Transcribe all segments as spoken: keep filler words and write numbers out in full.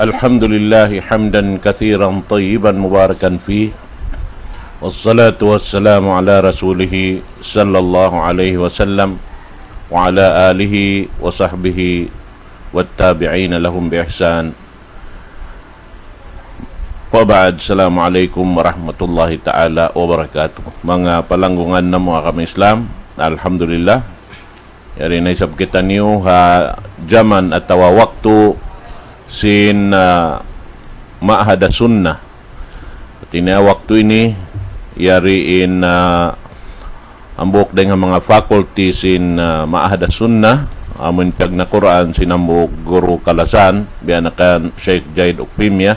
الحمد لله حمدا كثيرا طيبا مباركا فيه، والصلاة والسلام على رسوله صلى الله عليه وسلم وعلى آله وصحبه والتابعين لهم بإحسان. وبعد، السلام عليكم ورحمة الله تعالى وبركاته. Manga palanggungan namu' agama Islam, alhamdulillah, yari na isab kitaniyu ha jaman atawa waktu sin, ah, Ma'had Sunnah. Hati niya waktu ini, yari in, ah, hambuuk dayn ha manga faculty sin, ah, Ma'had Sunnah, amun piyagnakuraan sin hambuuk guru kalasahan, biya' na kan Sheikh Zaid Ukpimya.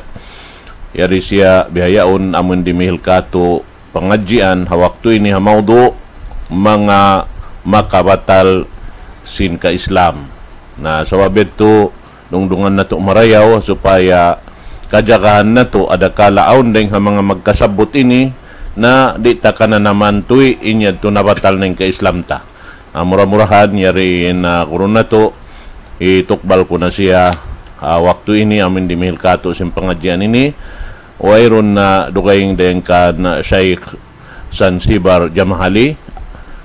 Yari siya bihaun amun dimihil kātu' pangadjian ha waktu ini ha mawdu' manga makabatal sin ka-Islam. Na sabab yadtu, dungdungan natu' marayaw supaya kajagahan natu' adakala awn dayn ha manga magkasabbut ini na di' ta kananaman tuwi' in yadtu nabatal na in ka-Islam ta. Ah, mura-murahan yari in, ah, guru natu', hitukbal ku na siya, ah, waktu ini amun dimihil kātu' sin pangadjian ini. Wayruun na dugaing dayn kan Sheikh Zanzibar Jamahali,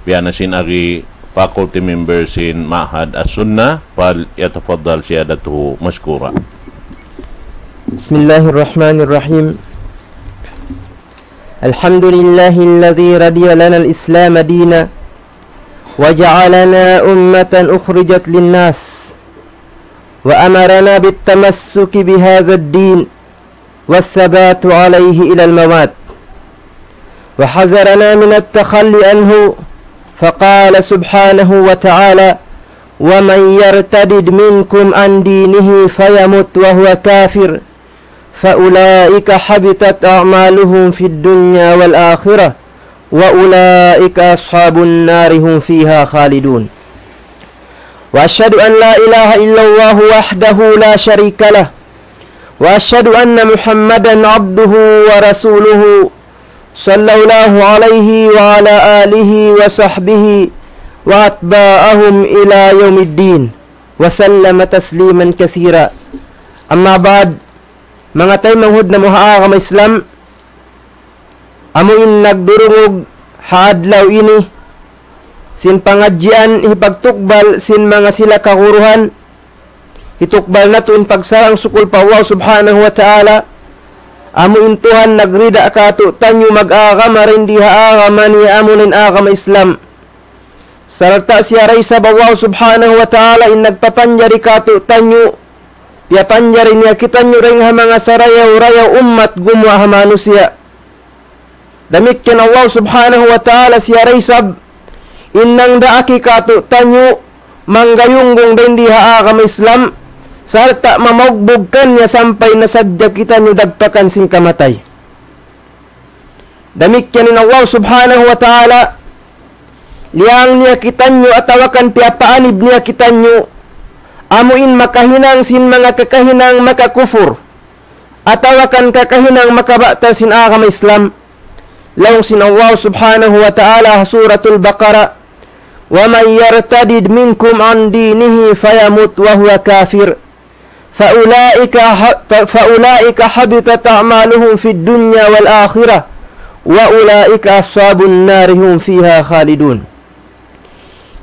biya' na sin agi faculty member sin Ma'had As-Sunnah, فليتفضل سيادته مشكورا. بسم الله الرحمن الرحيم. الحمد لله الذي رضي لنا الإسلام دينا، وجعلنا أمة أخرجت للناس، وأمرنا بالتمسك بهذا الدين والثبات عليه إلى الممات، وحذرنا من التخلي عنه، فقال سبحانه وتعالى: ومن يرتدد منكم عن دينه فيمت وهو كافر فأولئك حبطت أعمالهم في الدنيا والآخرة وأولئك أصحاب النار هم فيها خالدون. وأشهد أن لا إله إلا الله وحده لا شريك له، وأشهد أن محمدا عبده ورسوله، صلى الله عليه وعلى آله وصحبه وأتباعهم إلى يوم الدين، وسلم تسليما كثيرا. أما بعد، manga taymanghud namu' ha agama Islam, amu in nagdurungug ha adlaw ini sin pangadjian hipagtukbal sin manga sila kaguruhan, hitukbal natu' in pagsarang-sukul pa Allah Subhanahu wa Ta'ala, amu in Tuhan nagrida kātu'niyu mag-agama dayn di ha agama niya amu in agama Islam. Sarta' siya da isab Allah Subhanahu wa Ta'ala in nagpapanjari kātu'niyu, piyapanjari niya kitaniyu dayn ha manga sarayaw-rayaw ummat gumuwa' ha manusiya'. Damikkiyan Allah Subhanahu wa Ta'ala siya da isab in nangdaak kātu'niyu manggayunggung dayn di ha agama Islam, sarta' mamaugbug kaniya sampay na sadja kitaniyu dagpakan sin kamatay. Damikkiyan in Allah Subhanahu wa Ta'ala, liyang niya kitaniyu atawa kan piyapaanib niya kitaniyu, amu in makahinang sin manga kakahinang makakufur, atawa kan kakahinang makabatal sin agama Islam. Laung sin Allah Subhanahu wa Ta'ala ha Suratul Baqarah, ومن يرتدد منكم عن دينه فيمت وهو كافر فأولئك ح-، ف-، فأولئك حبطت أعمالهم في الدنيا والآخرة وأولئك أصحاب النار هم فيها خالدون.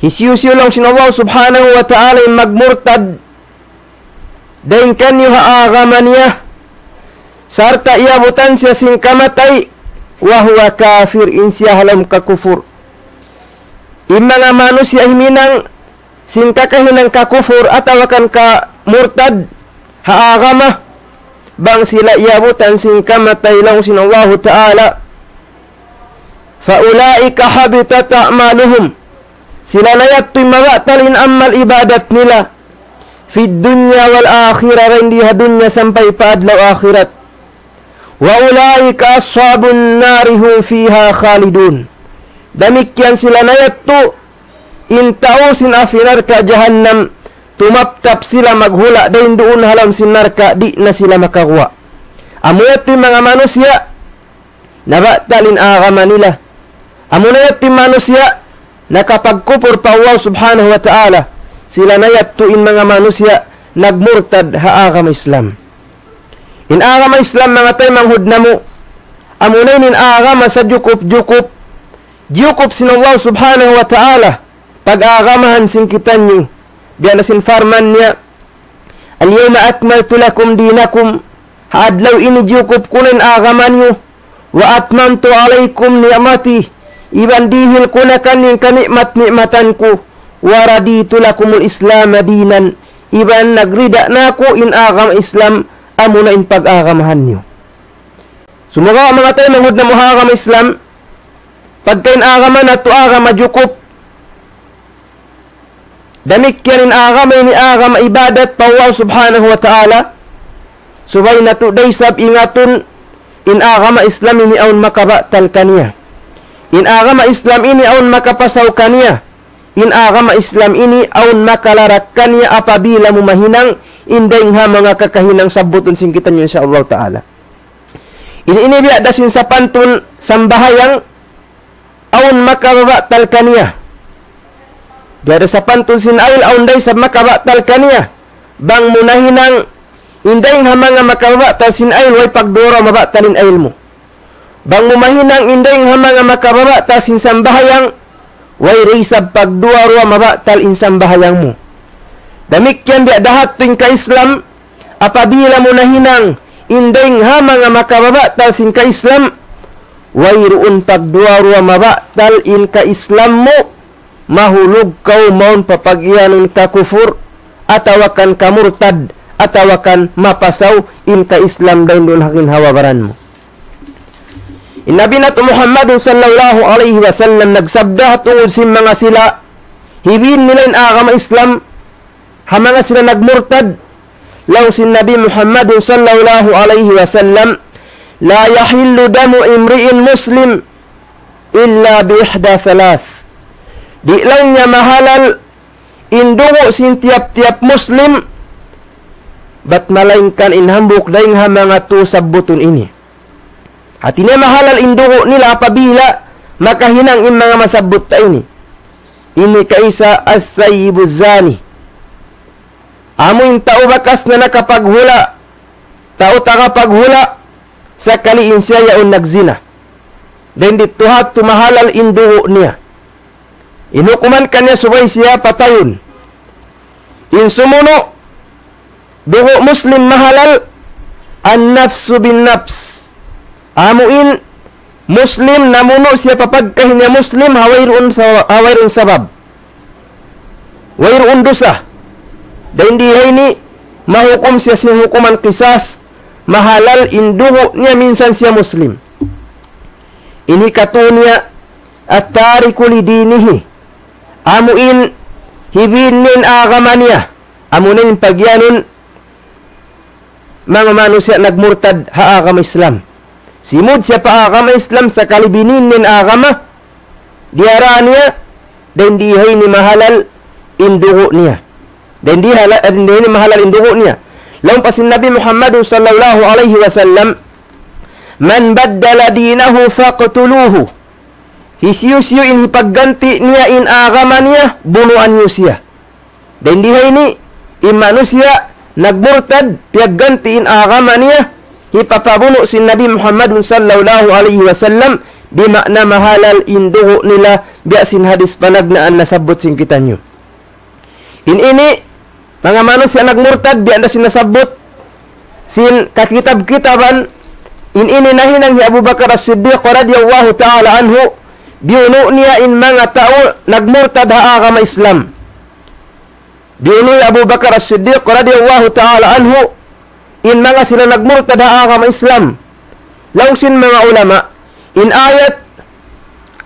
Hisiyu-siyu laung sin Allah Subhanahu wa Ta'ala in magmurtad dayn kaniyu ha agama niya, sarta' iyabutan siya sin kamatay, وهو كافر, in siya ha lawm kakufur. In manga manusiya' himinang sin kakahinang kakufur atawa kan kamurtad ha agama, bang sila iyabutan sin kamatay laung sin Allahu Ta'ala, فأولئك حبطت أعمالهم. Sila na yadtu in mabatal in amal ibadat nila. في الدنيا والآخرة, dayn di ha dunya sampay pa adlaw akhirat. وأولئك أصحاب النار هم فيها خالدون. Damikkiyan sila na yadtu in tau sin api narka' jahannam, tumaptap sila maghula' dayn duun ha lawm sin narka', di' na sila makaguwa'. Amu yadtu in manga manusiya' nabatal in agama nila. Amu na yadtu in manusiya' nakapagkupur pa Allah Subhanahu wa Ta'ala. Sila na yadtu in manga manusiya' nagmurtad ha agama Islam. In agama Islam, manga taymanghud namu', amuna in agama sajukup-jukup, jukup sin Allah Subhanahu wa Ta'ala pag-agamahan sin kitaniyu. Biya' na sin parman niya, اليوم أكملت لكم دينكم, ha adlaw ini jukup ku na in agama niyu. وأتممت عليكم نعمتي, iban dihil ku na kaniyu in kani'mat-ni'matan ku. ورضيت لكم الإسلام دينا, iban nagrida na aku in agama Islam amuna in pag-agamahan niyu. Sumagawa' manga taymanghud namu' ha agama Islam, pagka in agama natu' agama jukup, damikkiyan in agama ini agama ibadat pa Allah Subhanahu wa Ta'ala, subay natu' da isab ingatun in agama Islam ini awn makabatal kaniya. In agama Islam ini awn makapasaw kaniya. In agama Islam ini awn makalarak kaniya apabila mu mahinang in dayng ha manga kakahinang sabbutun sin kitaniyu, insya Allah Ta'ala. Ini, ini biya' da sin sapantun sambahayang awn makababatal kaniya. Biya' da sapantun sin ayl awn da isab makabatal kaniya. Bang mu nahinang in dayng ha manga makababatal sin ayl, way pagduwa-ruwa mabatal in ayl mu. Bang mu mahinang in dayng ha manga makababatal sin sambahayang, way da isab pagduwa-ruwa mabatal in sambahayang mu. Damikkiyan biya' da hadtu in ka-Islam, apabila mu nahinang in dayng ha manga makababatal sin ka-Islam, wayruun pagduwa-ruwa mabatal in ka-Islam mu, mahulug kaw mawn pa pagiyanun kakufur, atawa kan kamurtad, atawa kan mapasaw in ka-Islam dayn duun ha ginhawa-baran mu. In Nabi natu' Muhammadun sallallahu alayhi wasallam nagsabda tungud sin manga sila hibin nila in agama Islam, ha manga sila nagmurtad, laung sin Nabi Muhammadun sallallahu alayhi wasallam, لا يحل دم امرئ مسلم إلا بإحدى ثلاث. Di' laung niya mahalal in dugu' sin tiyap-tiyap Muslim, bat malaingkan in hambuuk dayng ha manga tū sabbutun ini. Hati niya mahalal in dugu' nila apabila makahinang in manga masabbut ta ini. Ini kaisa الثيب الزاني. Amu in tau bakas na nakapaghula', tau tagapaghula', sakali in siya yaun nagzina. Dayn didtu hadtu mahalal in dugu' niya. In hukuman kaniya subay siya patayun. In sumunu', dugu' Muslim mahalal, النفس بالنفس. Amu in Muslim namunu' siya pa pagkahi niya Muslim, ha wayruun sa-, ha wayruun sabab. Wayruun dusa. Dayn di ha ini, mahukum siya sin hukuman qisas, mahalal in dugu' niya minsan siya Muslim. Ini katu' niya, التارك لدينه. Amu in hibin niya in agama niya. Amu na in pagiyanun manga manusiya' nagmurtad ha agama Islam. Simud siya pa agama Islam sakali binin niya in agama, diyara niya, dayn di ha ini mahalal in dugu' niya. Dayn di hala-, dayn di ha ini mahalal in dugu' niya. Laung pa sin Nabi Muhammad sallallahu alayhi wasallam, من بدل دينه فاقتلوه. Hisiyu-siyu in hipagganti' niya in agama niya, bunuan niyu siya. Dayn di ha ini, in manusiya' nagmurtad, piyagganti' in agama niya, hipapabunu' sin Nabi Muhammad sallallahu alayhi wasallam, bima'na mahalal in dugu' nila, biya' sin hadis panagnaan nasabbut sin kitaniyu. In ini, manga manusiya' nagmurtad, biya' da sin nasabbut sin kakitab-kitaban, in ini nahinang hi Abu Bakar As-Siddiq radiyallahu ta'ala anhu, biyunu' niya in manga tau nagmurtad ha agama Islam. Biyunu' hi Abu Bakar As-Siddiq radiyallahu ta'ala anhu, in manga sila nagmurtad ha agama Islam. Laung sin manga ulama, in ayat,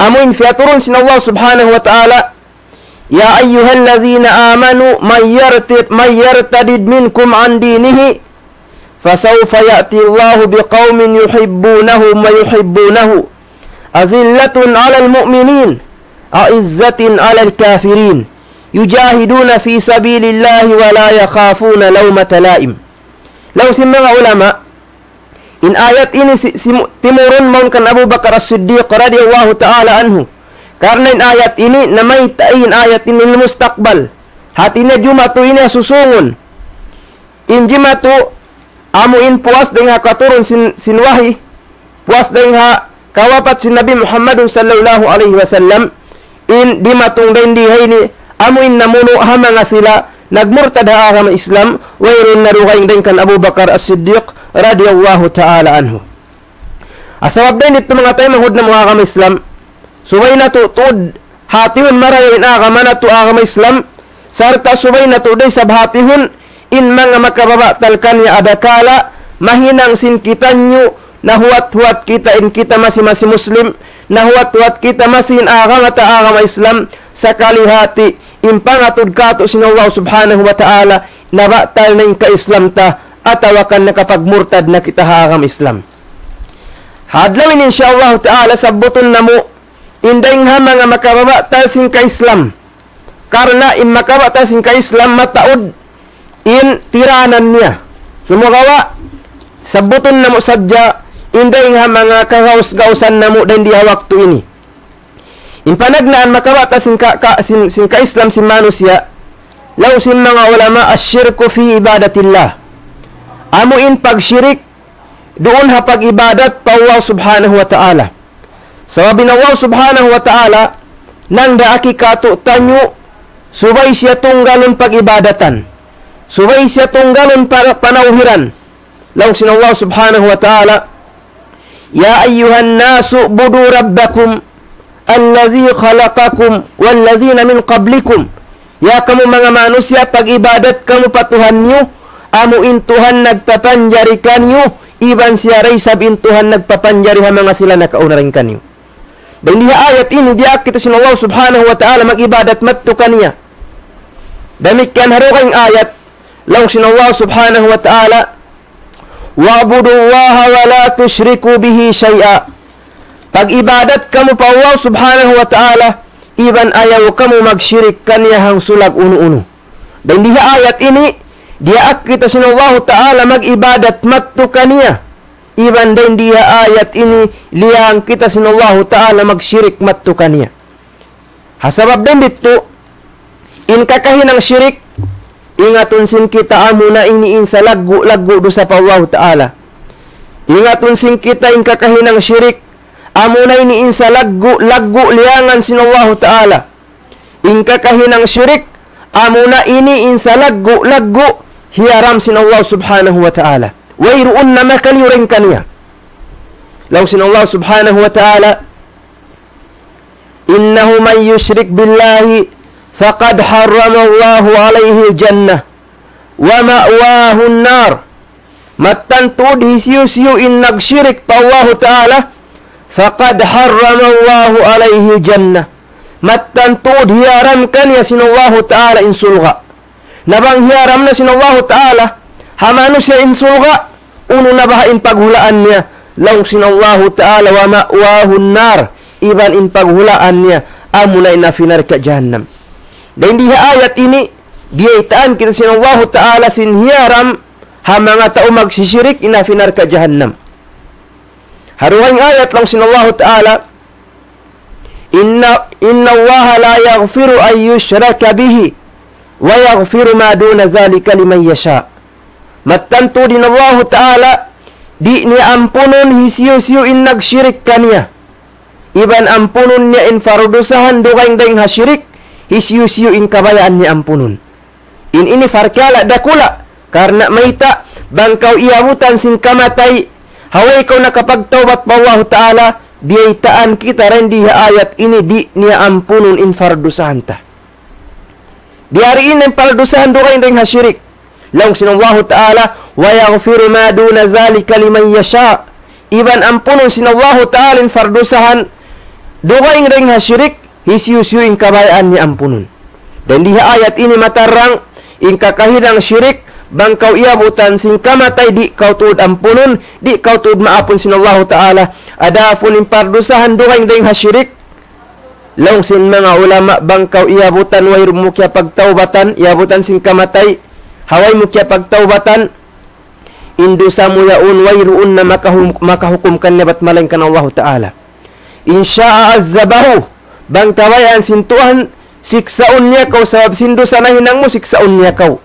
amu in piyaturun sin Allah subhanahu wa ta'ala, يا أيها الذين آمنوا من يرتد، من يرتد منكم عن دينه فسوف يأتي الله بقوم يحبونهم ويحبونه أذلة على المؤمنين أعزة على الكافرين يجاهدون في سبيل الله ولا يخافون لومة لائم. Laung sin manga ulama, in ayat ini si-, simu-, timurun mawn kan Abu Bakar As-Siddiq radiyallahu ta'ala anhu. Karna' in ayat ini, namayta' in ayat ini mustaqbal. Hati niya jumatu ini ha susungun. In jimatu, amu in puas dayn ha katurun sin, sin wahi, puas dayn ha kawapat sin Nabi Muhammadun sallallahu alayhi wasallam, in dimatung dayn di ha ini, amu in namunu' ha manga sila nagmurtad ha agama Islam, wayruun na dugaing dayn kan Abu Bakar As-Siddiq radiyallahu ta'ala anhu. Sabab dayn ditu manga taymanghud namu' agama Islam, subay natu' tuud hatihun marayaw in agama natu' agama Islam, sarta' subay natu' da isab hatihun in manga makababatal kaniya adakala mahinang sin kitaniyu, nahuwat-huwat kita in kita masi-masi Muslim, nahuwat-huwat kita masi in agama ta agama Islam, sakali hati in pangatud katu' sin Allah subhanahu wa ta'ala, nabatal na in ka-Islam ta, atawa kan nakapagmurtad na kita ha agama Islam. Ha adlaw ini, insya Allah ta'ala, sabbutun namu' in dayn ha manga makababatal sin ka-Islam. Karna' in makababatal sin ka-Islam mataud in tiranan niya. Sumagawa', sabbutun namu' sadja in dayn ha manga kagaus-gausan namu' dayn di ha waktu ini. In panagnaan makababatal sin ka, ka, sin, sin ka-Islam sin manusiya', laung sin manga ulama, الشرك في عبادة الله. Amu in pagshirik duun ha pag-ibadat pa Allah subhanahu wa ta'ala. Sabab in Allah subhanahu wa ta'ala, nangdaak katu'taniyu, subay siya tunggalun pag-ibadatan. Subay siya tunggalun pa, panawhiran. Laung sin Allah subhanahu wa ta'ala, يا أيها الناس اعبدوا ربكم الذي خلقكم والذين من قبلكم. Ya kamu manga manusiya', pag-ibadat kamu pa Tuhan niyu, amu in Tuhan nagpapanjari kaniyu, iban siya da isab in Tuhan nagpapanjari ha manga sila nakauna dayn kaniyu. Dayn di ha ayat ini, diyaak kita sin Allah subhanahu wa ta'ala mag-ibadat madtu kaniya. Damikkiyan ha dugaing ayat, laung sin Allah subhanahu wa ta'ala, واعبدوا الله ولا تشركوا به شيئا. Pag-ibadat kamu pa Allah subhanahu wa ta'ala, iban ayaw kamu magshirik kaniya hangsulag unu-unu. Dayn di ha ayat ini, diyaak kita sin Allah ta'ala mag-ibadat madtu kaniya. Iban dayn di ha ayat ini, liyang kita sin Allah ta'ala magshirik madtu kaniya. Ha sabab dayn ditu, in kakahinang shirik, ingatun sin kita amuna ini in salaggu'-laggu' dusa pa Allahu ta'ala. Ingatun sin kita in kakahinang shirik, amuna ini in salaggu'-laggu' liyangan sin Allahu ta'ala. In kakahinang shirik, amuna ini in salaggu'-laggu' hiyaram sin Allah subhanahu wa ta'ala. Wayruun na makaliyu dayn kaniya. Laung sin Allah subhanahu wa ta'ala, إنه من يشرك بالله فقد حرم الله عليه الجنة ومأواه النار. Mattan tuud hisiyu-siyu in nagshirik pa Allahu ta'ala, فقد حرم الله عليه الجنة. Mattan tuud hiyaram kaniya sin Allahu ta'ala in surga'. Na bang hiyaram na sin Allahu ta'ala ha manusiya' in surga', unu na baha' in paghulaan niya? Laung sin Allahu ta'ala, ومأواه النار. Iban in paghulaan niya, amuna in api narka' jahannam. Dayn di ha ayat ini, biyaytaan kita sin Allahu ta'ala sin hiyaram ha manga tau magsishirik in api narka' jahannam. Ha dugaing ayat laung sin Allahu ta'ala, إن، إن الله لا يغفر أن يشرك به ويغفر ما دون ذلك لمن يشاء. Mattan tuud in Allahu ta'ala, di' niya ampunun hisiyu-siyu in nagshirik kaniya. Iban ampunun niya in pardusahan dugaing dayn ha shirik, hisiyu-siyu in kabayaan niya ampunun. In ini parkala' dakula', karna' mayta', bang kaw iyabutan sin kamatay, ha way kaw nakapagtawbat pa Allahu ta'ala, biyaytaan kita dayn di ha ayat ini di' niya ampunun in pardusahan ta. Biyadiin in pardusahan dugaing dayn ha shirik. Laung sin Allahu ta'ala, ويغفر ما دون ذلك لمن يشاء. Iban ampunun sin Allahu ta'ala in pardusahan dugaing dayn ha shirik, hisiyu-siyu in kabayaan niya ampunun. Dayn di ha ayat ini matarrang, in kakahinang shirik, bang kaw iyabutan sin kamatay, di' kaw tuud ampunun, di' kaw tuud maapun sin Allahu ta'ala. Adapun in pardusahan dugaing dayn ha shirik, laung sin manga ulama, bang kaw iyabutan wayruun mu kiyapagtawbatan, iyabutan sin kamatay, ha way mu kiyapagtawbatan, in dusa mu yaun wayruun na makahum-, makahukum kaniya bat malaingkan Allahu ta'ala. إن شاء عذبه, bang kabayaan sin Tuhan, siksaun niya kaw sabab sin dusa nahinang mu, siksaun niya kaw.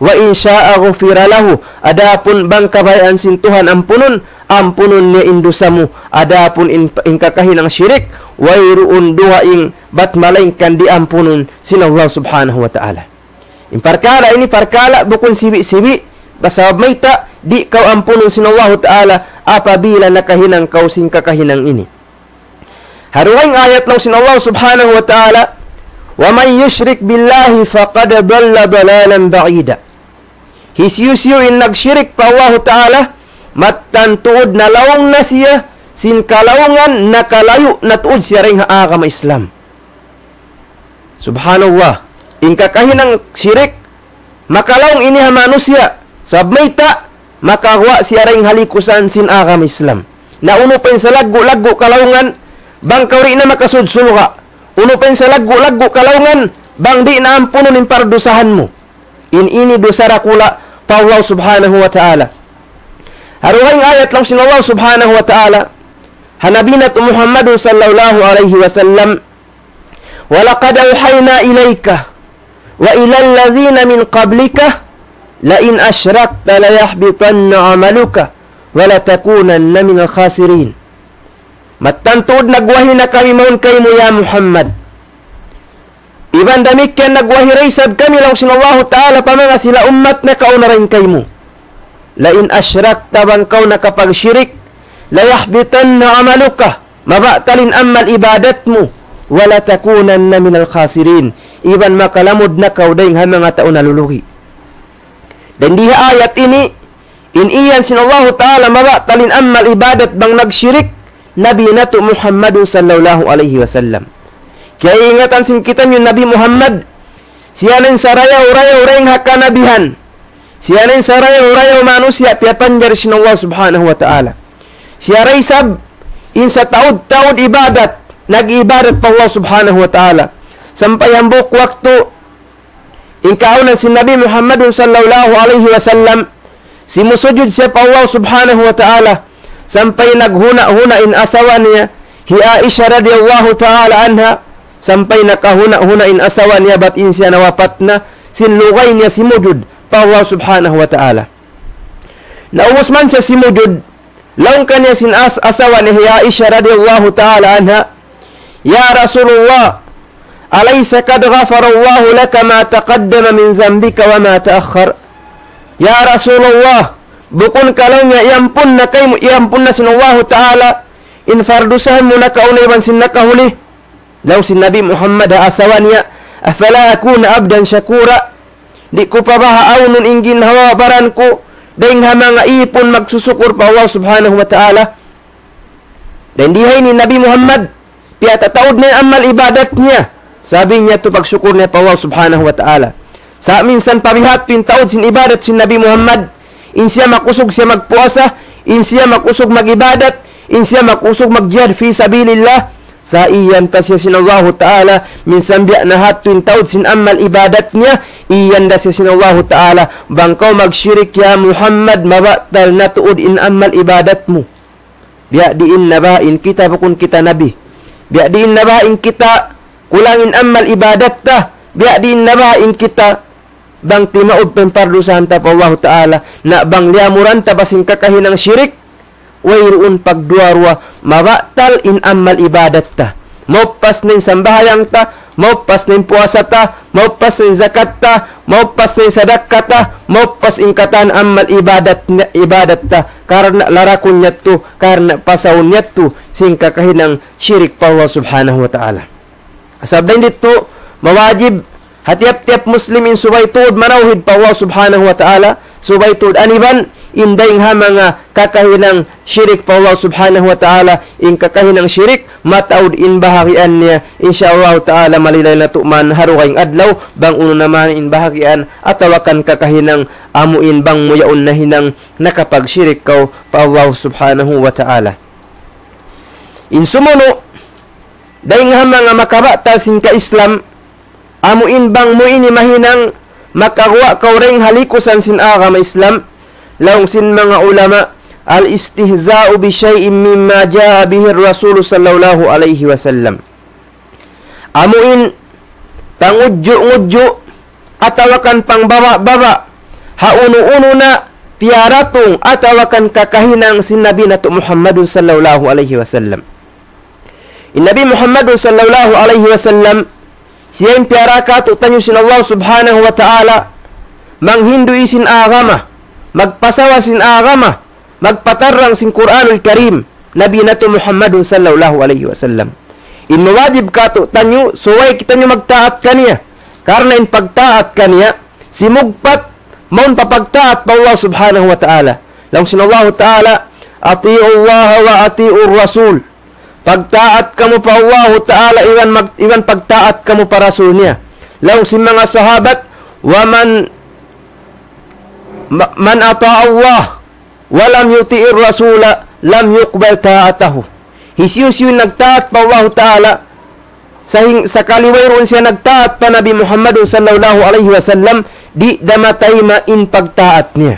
وإن شاء غفر له. Adapun bang kabayaan sin Tuhan ampunun, ampunun niya in dusa mu. Adapun in, in kakahinang shirik, wayruun dugaing bat malaingkan diampunun sin Allah Subhanahu wa Ta'ala. In parkala' ini parkala' bukun sibi'-sibi', sabab mayta', di' kaw ampunun sin Allahu Ta'ala apabila nakahinang kaw sin kakahinang ini. Ha dugaing ayat laung sin Allah Subhanahu wa Ta'ala, ومن يشرك بالله فقد ضل ضلالا بعيدا. Hisiyu-siyu in nagshirik pa Allahu Ta'ala, mattan tuud nalaung na siya sin kalaungan, nakalayu' na tuud siya dayn ha agama Islam. Subhanallah. In kakahinang shirik, makalaung ini ha manusiya'. Sabab mayta', makaguwa' siya dayn ha likusan sin agama Islam. Na unu pa in salaggu'-laggu' kalaungan, bang kaw di' na makasud surga'. Unu pa in salaggu'-laggu' kalaungan, bang di' na ampunun in pardusahan mu. In ini dusa dakula' pa Allah Subhanahu wa Ta'ala. Ha dugaing ayat laung sin Allah Subhanahu wa Ta'ala, ha Nabi natu' Muhammadun sallallahu alayhi wasallam, ولقد أوحينا إليك وإلى الذين من قبلك لئن أشركت ليحبطن عملك ولتكونن من الخاسرين. Mattan tuud nagwahi na kami mawn kaymu ya Muhammad. Iban damikkiyan nagwahi da isab kami laung sin Allahu Ta'ala pa manga sila ummat nakauna dayn kaymu. لئن أشركت, bang kaw nakapagshirik, ليحبطن عملك, mabatal in amal ibadat mu, ولتكونن من الخاسرين, iban makalamud na kaw dayn ha manga tau nalulugi'. Dayn di ha ayat ini, in iyan sin Allahu Ta'ala mabatal in amal ibadat bang nagshirik, Nabi natu' Muhammadun sallallahu alayhi wasallam. Kiyaingatan sin kitaniyu Nabi Muhammad, siya na in sarayaw-rayaw dayn ha kanabihan. Siya na in sarayaw-rayaw manusiya' piyapanjari sin Allah Subhanahu wa Ta'ala. Siya da isab in sataud-taud ibadat, nag-ibadat pa Allah Subhanahu wa Ta'ala. Sampay hambuuk waktu, in kaawnan sin Nabi Muhammadun sallallahu alayhi wasallam, simusujud siya pa Allah Subhanahu wa Ta'ala, sampay naghuna'-huna' in asawa niya, hi Aisha radiyallahu ta'ala anha, sampay nakahuna'-huna' in asawa niya bat in siya nawapat na, sin lugay niya simujud pa Allah Subhanahu wa Ta'ala. Na ubus man siya simujud, laung kaniya sin as-, asawa niya hi Aisha radiyallahu ta'ala anha, يا رسول الله، أليس قد غفر الله لك ما تقدم من ذنبك وما تأخر؟ Ya Rasulullah, bukun ka laung niya iyampun na kaymu, iyampun na sin Allahu Ta'ala in pardusahan mu nakauna iban sin nakahuli? Laung sin Nabi Muhammad ha asawa niya, أفلا أكون عبدا شكورا؟ Di' ku pa baha' awnun in ginhawa-baran ku dayn ha manga īpun magsusukur pa Allah Subhanahu wa Ta'ala? Dayn di ha ini Nabi Muhammad, piyatataud niya in amal ibadat niya. Sabab niya tuud pagsukur niya pa Allah Subhanahu wa Ta'ala. Sa' minsan pa biha' tuud in taud sin ibadat sin Nabi Muhammad, in siya makusug siya magpuasa, in siya makusug mag-ibadat, in siya makusug magjihad fi sabilillah, sa' iyan da siya sin Allahu Ta'ala, minsan biya' na ha tuud in taud sin amal ibadat niya, iyan da siya sin Allahu Ta'ala, bang kaw magshirik ya Muhammad, mabatal na tuud in amal ibadat mu. Biya' diin na baha' in kita bukun kita nabi? Biya' diin na baha' in kita kulang in amal ibadat ta? Biya' diin na baha' in kita bang timaud pa in pardusahan ta pa Allahu Ta'ala, na bang liyamuran ta pa sin kakahinang shirik, wayruun pagduwa-ruwa, mabatal in amal ibadat ta. Maupas na in sambahayang ta, maupas na in puasa ta, maupas na in zakat ta, maupas na in sadakka ta, maupas in katan amal ibadat, ibadat ta. Karna' larakun niya yadtu, karna' pasaun niya yadtu, sin kakahinang shirik pa Allah Subhanahu wa Ta'ala. Sabab dayn didtu, mawajib ha tiyap-tiyap Muslim in subay tuud manawhid pa Allah Subhanahu wa Ta'ala, subay tuud aniban in dayng ha manga kakahinang shirik pa Allah Subhanahu wa Ta'ala, in kakahinang shirik, mataud in bahagian niya, insya Allah Ta'ala, malilay natu' man ha dugaing adlaw, bang unu na man in bahagian, atawa kan kakahinang amu in bang mu yaun nahinang nakapagshirik kaw pa Allah Subhanahu wa Ta'ala. In sumunu', dayng ha manga makabatal sin ka-Islam, amu in bang mu ini mahinang makaguwa' kaw dayng ha likusan sin agama Islam, laung sin manga ulama, الاستهزاء بشيء مما جاء به الرسول صلى الله عليه وسلم. Amu in pangudju'-ngudju' atawa kan pangbaba'-baba' ha unu-unu na piyaratung atawa kan kakahinang sin Nabi natu' Muhammadun sallallahu alayhi wasallam. In Nabi Muhammadun sallallahu alayhi wasallam, siya in piyara kātu'niyu sin Allah subhanahu wa ta'ala, manghindu' sin agama, magpasawa sin agama, magpatarrang sin Qur'anul Karim, Nabi natu' Muhammadun sallallahu alayhi wasallam. In mawajib kātu'niyu, subay kitaniyu magtaat kaniya. Karna' in pagtaat kaniya, simugpat, mawn pa pagtaat pa Allah subhanahu wa ta'ala. Laung sin Allah ta'ala, أطيعوا الله وأطيعوا الرسول. Pagtaat kamu pa Allah ta'ala, iban mag-, iban pagtaat kamu pa Rasul niya. Laung sin manga sahabat, ومن, ma-, من أطاع الله ولم يطع الرسول لم يقبل طاعته. Hisiyu-siyu in nagtaat pa Allah ta'ala, sahing-, sakali wayruun siya nagtaat pa Nabi Muhammadun sallallahu alayhi wasallam, di' da matayma in pagtaat niya.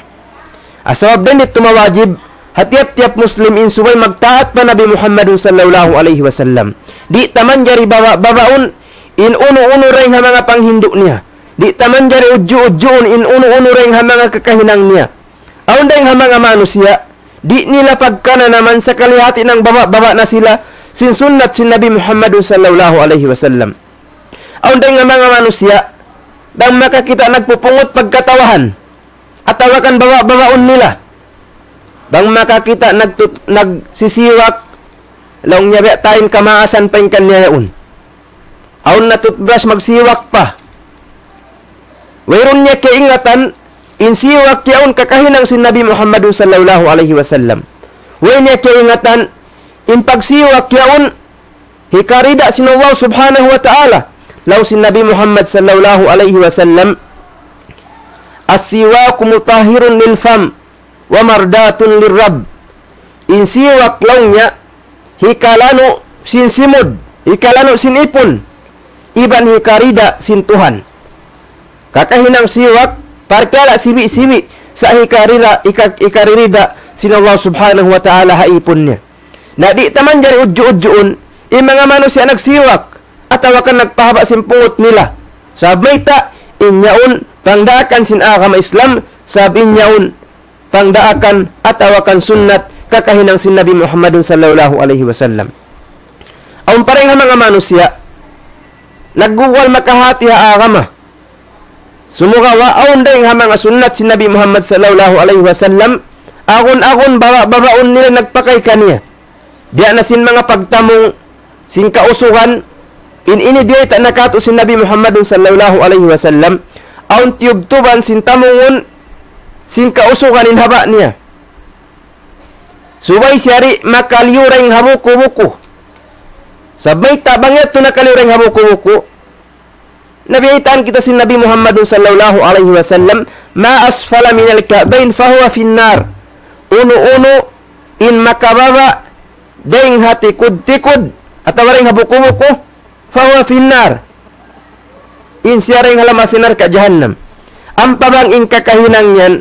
Sabab dayn ditu mawajib, ha tiyap-tiyap Muslim in subay magtaat pa Nabi Muhammadun sallallahu alayhi wasallam. Di' ta manjari baba-, babaun in unu-unu dayn ha manga panghindu' niya. Di' ta manjari udju-udjuun in unu-unu dayn ha manga kakahinang niya. Awn dayn ha manga manusiya', di' nila pagkananaman sakali hati nang baba-, baba na sila sin sunnat sin Nabi Muhammadun sallallahu alayhi wasallam. Awn dayn ha manga manusiya', bang makakita' nagpupungut pagkatawahan, atawa kan baba-, babaun nila. Bang makakita' nagtut-, nagsisiwak, laung niya biya' ta in kamaasan pa in kaniya yaun. Awn na toothbrush magsiwak pa. Wayruun niya kaingatan, in siwak yaun kakahinang sin Nabi Muhammadun sallallahu alayhi wasallam. Way niya kaingatan, in pagsiwak yaun, hikarida sin Allah subhanahu wa ta'ala. Laung sin Nabi Muhammad sallallahu alayhi wasallam, السواك مطهر للفم ومرضاة للرب. In siwak laung niya, hikalanu' sin simud, hikalanu' sin ipun, iban hikarida sin Tuhan. Kakahinang siwak, parkala' siwi'-siwi', sa' hikarira-, hika-, hikaririda sin Allah subhanahu wa ta'ala ha ipun niya. Na di' ta manjari udju-udjuun, in manga manusiya' nagsiwak, atawa kan nagpahaba' sin pungut nila. Sabab mayta', in yaun, pangdaakan sin agama Islam, sabab in yaun, pangdaakan, atawa kan sunnat, kakahinang sin Nabi Muhammadun sallallahu alayhi wasallam. Awn pa dayn ha manga manusiya', nagguwal makahati ha agama. Sumagawa' awn dayn ha manga sunnat sin Nabi Muhammad sallallahu alayhi wasallam, agun-agun baba-, babaun nila nagpakay kaniya. Biya' na sin manga pagtamung sin kausugan, in ini biyayta' na kātu' sin Nabi Muhammadun sallallahu alayhi wasallam, awn tiyubtuban sin tamungun sin kausugan in haba' niya. Subay siya di' makaliyu dayn ha buku-buku. Sabab mayta' bang yadtu nakaliyu dayn ha buku-buku, na biyaytaan kita sin Nabi Muhammadun sallallahu alayhi wasallam, ما أسفل من الكعبين فهو في النار. Unu-unu in makababa' dayn ha tikud-tikud atawa dayn ha buku-buku, فهو في النار. In siya dayn ha lawm api narka' jahannam. Ampa bang in kakahinang yan,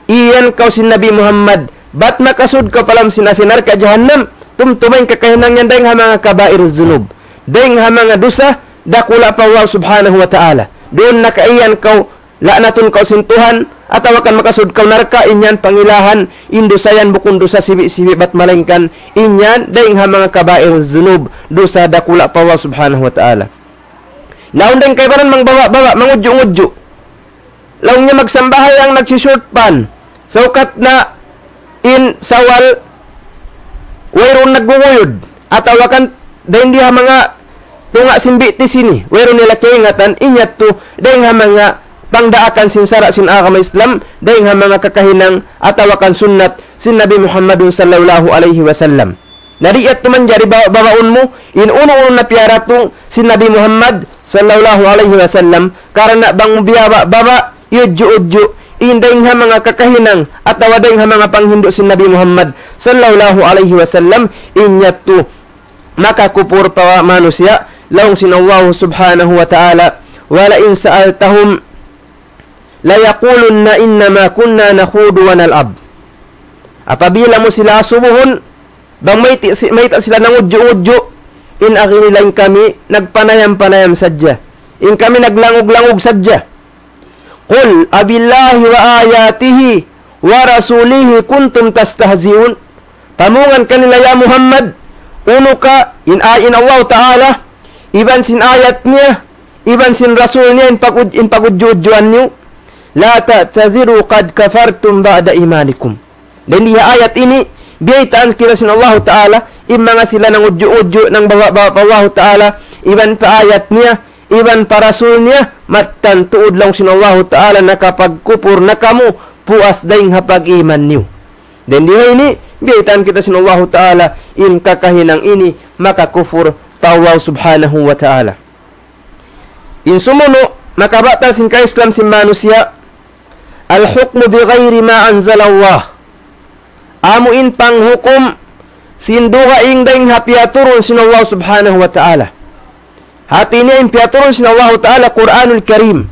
iyan kaw sin Nabi Muhammad, bat makasud kaw pa lawm sin api narka' jahannam, tumtuma in kakahinang yan dayn ha manga kabairuz zunub. Dayn ha manga dusa, dakula' pa Allah subhanahu wa ta'ala. Duun na kaiyan kaw, la'natun kaw sin Tuhan, atawa kan makasud kaw narka', in yan pangilahan, in dusa yan bukun dusa sibi'-sibi' bat malaingkan, in yan dayn ha manga kabairuz zunub, dusa dakula' pa Allah subhanahu wa ta'ala. Na awn dayn kaibanan mangbaba'-baba', mangudju'-ngudju'. Laung niya magsambahayang nagsishort pan. Saukat na in Sawal, wayruun nagguguyud. Atawa kan, dayn di ha manga tunga' sin bitis ini. Wayruun nila kaingatan, in yadtu, dayn ha manga pangdaakan sin sara' sin agama Islam, dayn ha manga kakahinang, atawa kan sunnat, sin Nabi Muhammadun sallallahu alayhi wasallam. Na di' yadtu manjari ba-, babaun mu, in unu-unu na piyaratung sin Nabi Muhammad sallallahu alayhi wasallam, karna' bang biyaba'-baba', iyudju'-udju', in dayn ha manga kakahinang, atawa dayn ha manga panghindu' sin Nabi Muhammad sallallahu alayhi wasallam, in yadtu makakupur pa manusiya', laung sin Allah subhanahu wa ta'ala, ولئن سألتهم ليقولن إنما كنا نخوض ونلعب. Apabila mu sila asubuhun, bang mayta' si-, mayta' sila nangudju'-ngudju', in agi nila in kami nagpanayam-panayam sadja. In kami naglangug-langug sadja. قل أبالله وآياته ورسوله كنتم تستهزئون. Pamungan kanila, ya Muhammad, unu ka in, a-, in Allah Ta'ala, iban sin ayat niya, iban sin Rasul niya, in pag-, in pagudju-udjuan niyu. لا تعتذروا قد كفرتم بعد إيمانكم. Dayn di ha ayat ini, biyaytaan kita sin Allahu Ta'ala, in manga sila nangudju'-udju' nang bawa-bawa pa Allahu Ta'ala, iban pa ayat niya, iban pa Rasul niya, mattan tuud laung sin Allahu Ta'ala nakapagkupur na kamu, puas dayng ha pag-iman niyu. Dayn di ha ini, biyaytaan kita sin Allahu Ta'ala, in kakahinang ini, makakupur pa Allah Subhanahu wa Ta'ala. In sumunu', makabatal sin ka-Islam sin manusiya', الحكم بغير ما أنزل الله. Amu in panghukum sin dugaing dayng ha piyaturun sin Allah Subhanahu wa Ta'ala. Hati niya in piyaturun sin Allah Ta'ala Qur'anul Karim.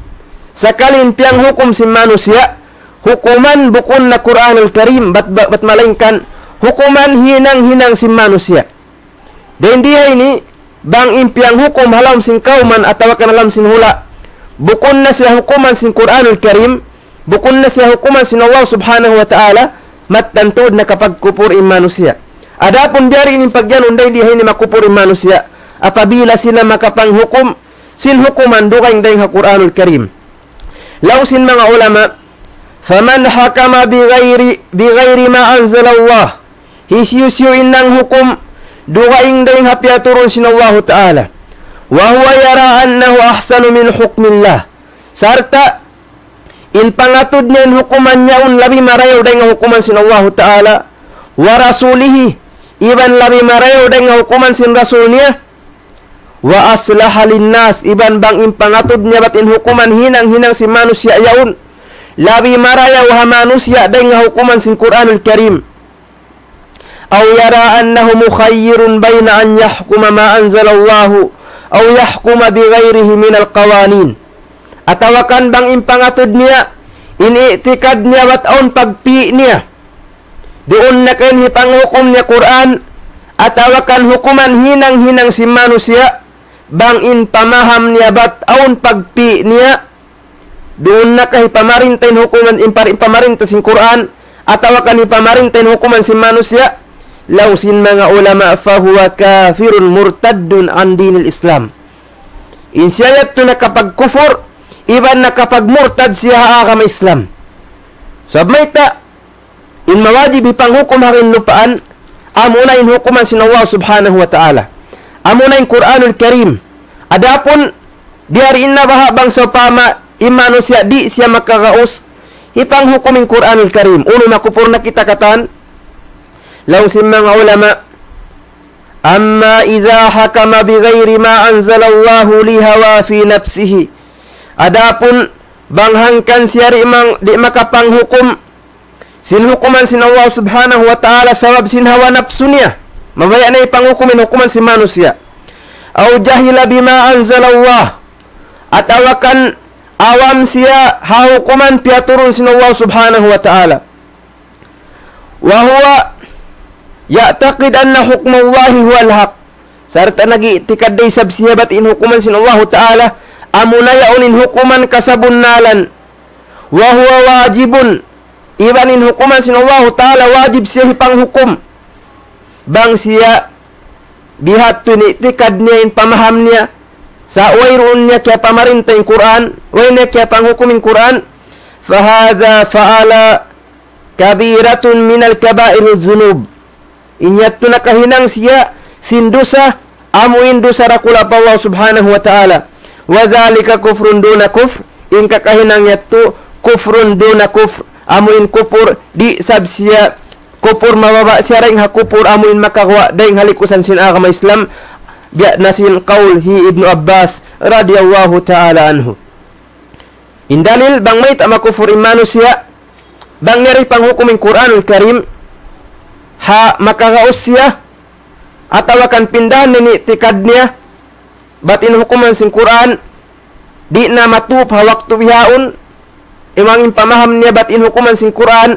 Sakali in piyanghukum sin manusiya', hukuman bukun na Qur'anul Karim, bat, bat, bat malaingkan hukuman hinang-hinang sin manusiya'. Dayn di ha ini, bang in piyanghukum ha lawm sin kawman atawa kan ha lawm sin hula', bukun na siya hukuman sin Qur'anul Karim, bukun na siya hukuman sin Allah Subhanahu wa Ta'ala, mattan tuud nakapagkupur in manusiya'. Adapun biyari in pagyanun dayn di ha ini makupur in manusiya', apabila sila makapanghukum sin hukuman dugaing dayng ha Qur'anul Karim. Laung sin manga ulama, فمن حكم بغير، بغير ما أنزل الله. Hisiyu-siyu in nanghukum dugaing dayng ha piyaturun sin Allahu Ta'ala. وهو يرى أنه أحسن من حكم الله. Sarta' in pangatud niya in hukuman niya yaun labi marayaw dayng ha hukuman sin Allahu Ta'ala. ورسوله, iban labi marayaw dayng ha hukuman sin Rasul niya. وأصلح للناس, iban bang in pangatud niya bat in hukuman hinang-hinang sin manusiya' yaun labi marayaw ha manusiya' dayng ha hukuman sin Qur'anul Karim. أو يرى أنه مخير بين أن يحكم ما أنزل الله أو يحكم بغيره من القوانين. Atawa kan bang in pangatud niya, in i'tikad niya bat awn pagpi' niya. Duun na kan hipanghukum niya Qur'an, atawa kan hukuman hinang-hinang sin manusiya', bang in pamaham niya bat awn pagpi' niya, duun na ka hipamarinta in hukuman, in par-, in pamarinta sin Qur'an, atawa kan hipamarinta in hukuman sin manusiya', laung sin manga ulama, فهو كافر مرتد عن دين الإسلام. In siya yadtu nakapagkufur, iban nakapagmurtad siya ha agama Islam. Sabab mayta', in mawajib hipanghukum ha lupaan, amuna in hukuman sin Allah Subhanahu wa Ta'ala. Amuna in Qur'anul Karim. Adapun, biyari in na baha' bang sawpama, in manusiya' di' siya makagaus, hipanghukum in Qur'anul Karim. Unu, makupur na kita katan? Laung sin manga ulama, أما إذا حكم بغير ما أنزل الله لهوى في نفسه. Adapun, bang hangkan siya di' mang-, di' makapanghukum sin hukuman sin Allah Subhanahu wa Ta'ala sabab sin hawa napsu niya. Mabaya' na hipanghukum in hukuman sin manusiya'. أو جهل بما أنزل الله. Atawa kan awam siya ha hukuman piyaturun sin Allah Subhanahu wa Ta'ala. وهو يعتقد أن حكم الله هو الحق. Sarta' nag-i'tikad da isab siya bat in hukuman sin Allahu Ta'ala, amuna yaun in hukuman kasabunnalan. وهو واجب. Iban in hukuman sin Allahu Ta'ala wajib siya hipanghukum. Bang siya bihadtu in i'tikad niya, in pamaham niya, sa' wayruun niya kiyapamarinta in Qur'an, way niya kiyapanghukum in Qur'an, فهذا فعل كبيرة من الكبائر الذنوب. In yadtu nakahinang siya sin dusa, amu in dusa dakula' pa Allah Subhanahu wa Ta'ala. وذلك كفر دون كفر, in kakahinang yadtu kufrun duna kufr, amu in kupur di' isab siya kupur mababa' siya dayng ha kupur amu in makaguwa' dayng ha likusan sin agama Islam, biya' na sin kaul hi Ibnu Abbas radiyallahu ta'ala anhu. In dalil bang mayta' makufur in manusiya', bang niya da hipanghukum in Qur'anul Karim, ha makagaus siya, atawa kan pindahan niya in i'tikad niya, bat in hukuman sin Qur'an, di' na matup ha waktu bihaun, iban in pamaham niya bat in hukuman sin Qur'an,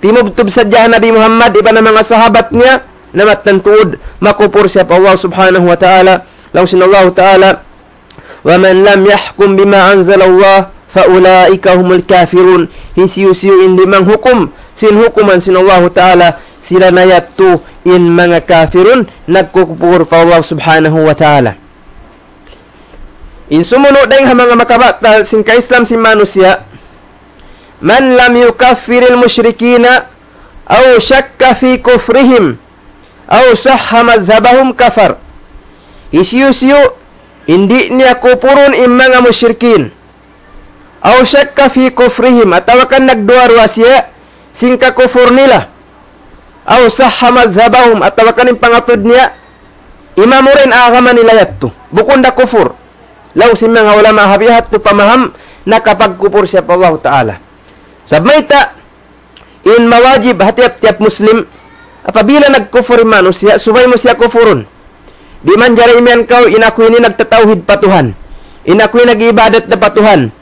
timubtub sadja ha Nabi Muhammad iban ha manga sahabat niya, na mattan tuud, makufur siya pa Allah Subhanahu wa Ta'ala, laung sin Allah Ta'ala, ومن لم يحكم بما أنزل الله فأولئك هم الكافرون. Hisiyu-siyu in di' manghukum sin hukuman sin Allahu Ta'ala, sila na yadtu in manga kafirun, nagkukupur pa Allah Subhanahu wa Ta'ala. In sumunu' dayng ha manga makabatal sin ka-Islam sin manusiya', من لم يكفر المشركين أو شك في كفرهم أو صح مذهبهم كفر. Hisiyu-siyu in di' niya kupurun in manga mushrikin, أو شك في كفرهم, atawa kan nagduwa-ruwa siya sin kakupur nila, أو صح مذهبهم, atawa kan in pangatud niya, imamu ra in agama nila yadtu, bukun da kupur. Laung sin manga ulama, ha bihadtu pamaham, nakapagkupur siya pa Allahu Ta'ala. Sabab mayta', in mawajib ha tiyap-tiyap Muslim, apabila nagkupur in manusiya', subay mu siya kupurun. Di' manjari imiyan kaw, in aku ini nagtatawhid pa Tuhan. In aku ini nag-iibadat da pa Tuhan.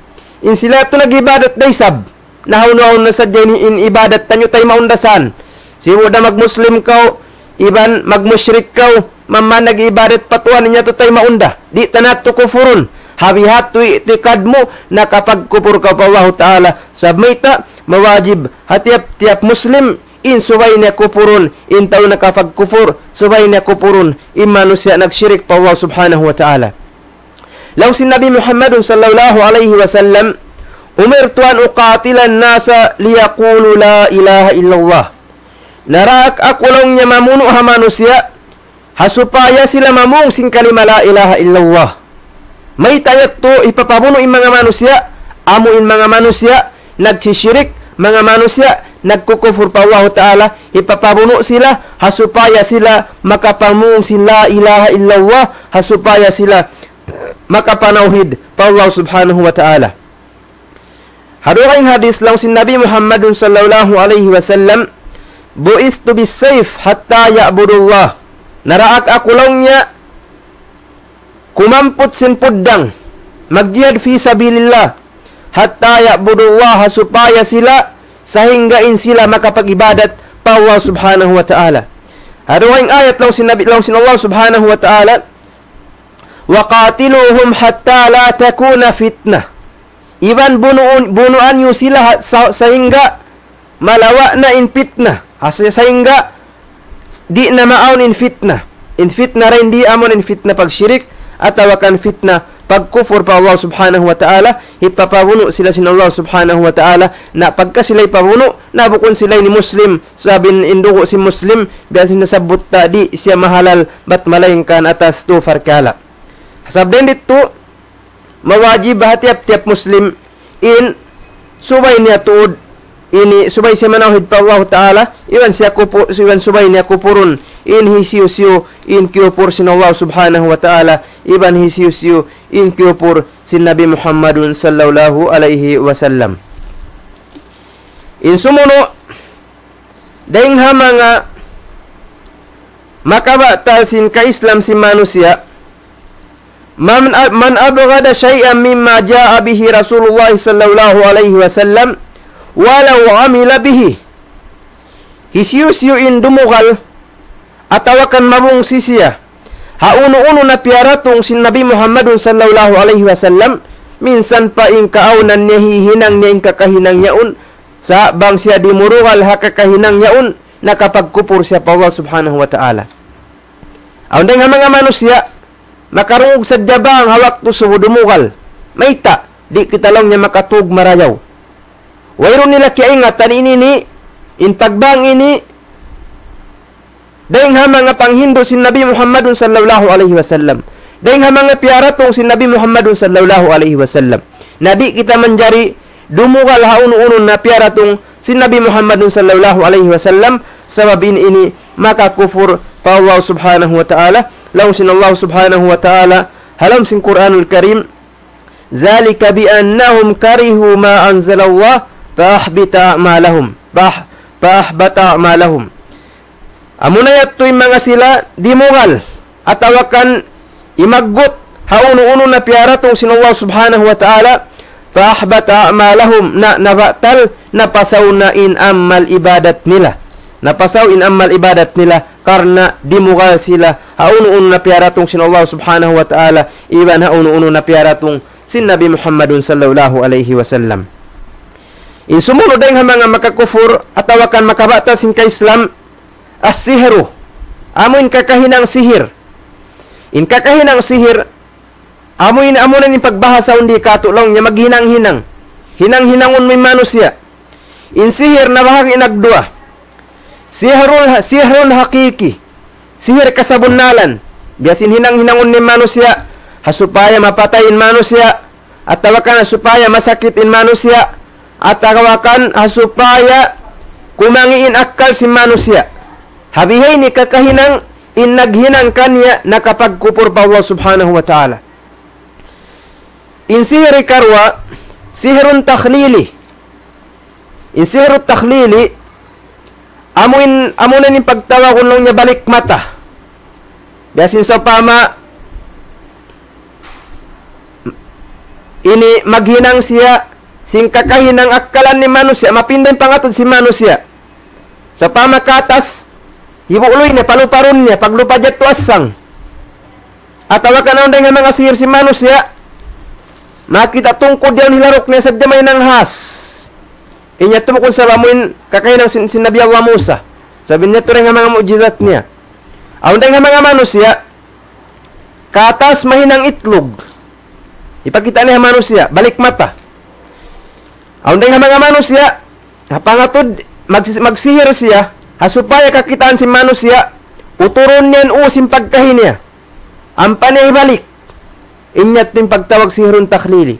In sila yadtu nag-iibadat da isab. Na hawnu-hawnu na sadja in, in ibadat taniyu taymaun da san. Sibu' da magmuslim kaw, iban magmushrik kaw, mamman nag-iibadat pa Tuhan, in yadtu taymaun da. Di' ta na yadtu kupurun. Ha bihadtu i'tikad mu, nakapagkupur kaw pa Allahu Ta'ala. Sabab mayta', mawajib ha tiyap-tiyap Muslim, in subay niya kupurun, in tau nakapagkupur, subay niya kupurun, in manusiya' nagshirik pa Allah Subhanahu wa Ta'ala. Laung sin Nabi Muhammadun sallallahu alayhi wasallam, أمرت أن أقاتل الناس ليقولوا لا إله إلا الله. Naraak aku laung niya mamunu' ha manusiya', ha supaya sila mamung sin kalima la ilaha illallah. Mayta' yadtu hipapabunu' in manga manusiya', amu in manga manusiya' nagsishirik, manga manusiya' nagkukupur pa Allahu Ta'ala, hipapabunu' sila, ha supaya sila makapamung sin la ilaha illallah, ha supaya sila makapanawhid pa Allah Subhanahu wa Ta'ala. Ha dugaing hadith laung sin Nabi Muhammadun sallallahu alayhi wasallam, بعثت بالسيف حتى يعبدوا الله. Naraak aku laung niya kumamput sin puddang, magjihad fi sabilillah, حتى يعبدوا الله, supaya sila, sahingga in sila makapag-ibadat pa Allah Subhanahu wa Ta'ala. Ha dugaing ayat laung sin Nabi, laung sin Allah Subhanahu wa Ta'ala, وقاتلوهم حتى لا تكون فتنة. Iban bunuun, bunuan niyu sila ha-, sa-, sahingga malawa' na in fitna. Asa sahingga di' na maawn in fitna. In fitna dayn di amun in fitna pagshirik, atawa kan fitna pagkupur pa Allah Subhanahu wa Ta'ala, hipapabunu' sila sin Allah Subhanahu wa Ta'ala, na pagka sila hipabunu', na bukun sila ini Muslim, sabab in dugu' sin Muslim, biya' sin nasabbut ta di' siya mahalal, bat malaingkan atas tu parkala'. Sabab dayn ditu, mawajib ha tiyap-tiyap Muslim in subay niya tuud ini, subay siya manawhid pa Allah Ta'ala, iban siya kupu-, iban subay niya kupurun in hisiyu-siyu in kiyupur sin Allah Subhanahu wa Ta'ala, iban hisiyu-siyu in kiyupur sin Nabi Muhammadun sallallahu alayhi wasallam. In sumunu', dayng ha manga makabatal sin ka-Islam sin manusiya', من، من أبغض شيئا مما جاء به رسول الله صلى الله عليه وسلم ولو عمل به. Hisiyu-siyu in dumugal atawa kan mabungsi siya ha unu-unu na piyaratung sin Nabi Muhammadun sallallahu alayhi wasallam, minsan pa in kaawnan niya hihinang niya in kakahinang yaun, sa' bang siya di' mudugal ha kakahinang yaun, nakapagkupur siya pa Allah Subhanahu wa Ta'ala. Awn dayng ha manga manusiya', makarungug sadja bang ha waktu subu dumugal. Mayta', di' kita laung niya makatug marayaw. Wayruun nila kiyaingatan ini, ini, in pagbang ini, dayng ha manga panghindu' sin Nabi Muhammadun sallallahu alayhi wasallam. Dayng ha manga piyaratung sin Nabi Muhammadun sallallahu alayhi wasallam. Na di' kita manjari dumugal ha unu-unu na piyaratung sin Nabi Muhammadun sallallahu alayhi wasallam, sabab in ini makakupur pa Allah Subhanahu wa Ta'ala. Laung sin Allah Subhanahu wa Ta'ala ha lawm sin Qur'anul Karim, ذلك بأنهم كرهوا ما أنزل الله فأحبط أعمالهم. فأح-، فأحبط أعمالهم. Amuna yadtu in manga sila dimugal, atawa kan imaggut, ha unu-unu na piyaratung sin Allah Subhanahu wa Ta'ala, فأحبط أعمالهم, na nabatal, napasaw na in amal ibadat nila. Napasaw in amal ibadat nila, karna' dimugal sila, ha unu-unu na piyaratung sin Allah Subhanahu wa Ta'ala, iban ha unu-unu na piyaratung sin Nabi Muhammadun sallallahu alayhi wasallam. In sumunud dayn ha manga makakufur atawa kan makabatal sin ka-Islam, as-sihru. Amu in kakahinang sihir. In kakahinang sihir, amu in, amu na in pagbahasa undi katu' laung niya maghinang-hinang. Hinang-hinangun mu in manusiya'. In sihir nabahagi' nagduwa. Sihrul, sihrun hakiki. Sihir kasabunnalan. Biya' sin hinang-hinangun in manusiya', ha supaya mapatay in manusiya', atawa kan ha supaya masakit in manusiya', atawa kan ha supaya kumangi' in akkal sin manusiya'. Ha bihaini kakahinang in naghinang kaniya nakapagkupur pa Allah Subhanahu wa Ta'ala. In sihir ikaruwa, sihrun takhlili. In sihru takhlili, amu in, amu na in pagtawagun laung niya balik mata. Biya' sin sawpama, ini maghinang siya, sin kakahinang akkalan ni manusiya', mapinda in pangatud sin manusiya'. Sawpama katas, hibu' luy niya, paluparun niya, paglupa jadtu asang. Atawa kan awn dayn ha manga sihir sin manusiya', makita' tungkud yaun hilaruk niya sadja mahinang has. Inya tumukun sa bamuin kakahinang sin, sin Nabi Allah Musa. Sabab niya turing ha manga mu'jizat niya. Awn dayn ha manga manusiya', katas mahinang itlug. Ipakita' niya ha manusiya', balik mata. Awn dayn ha manga manusiya', ha pangatud, mag-, magsihir siya, ha supaya kakitaan sin manusiya', uturun niya in u sin pagkahi niya. Ampa niya hibalik. Inya in pagtawag sihrun takhlili.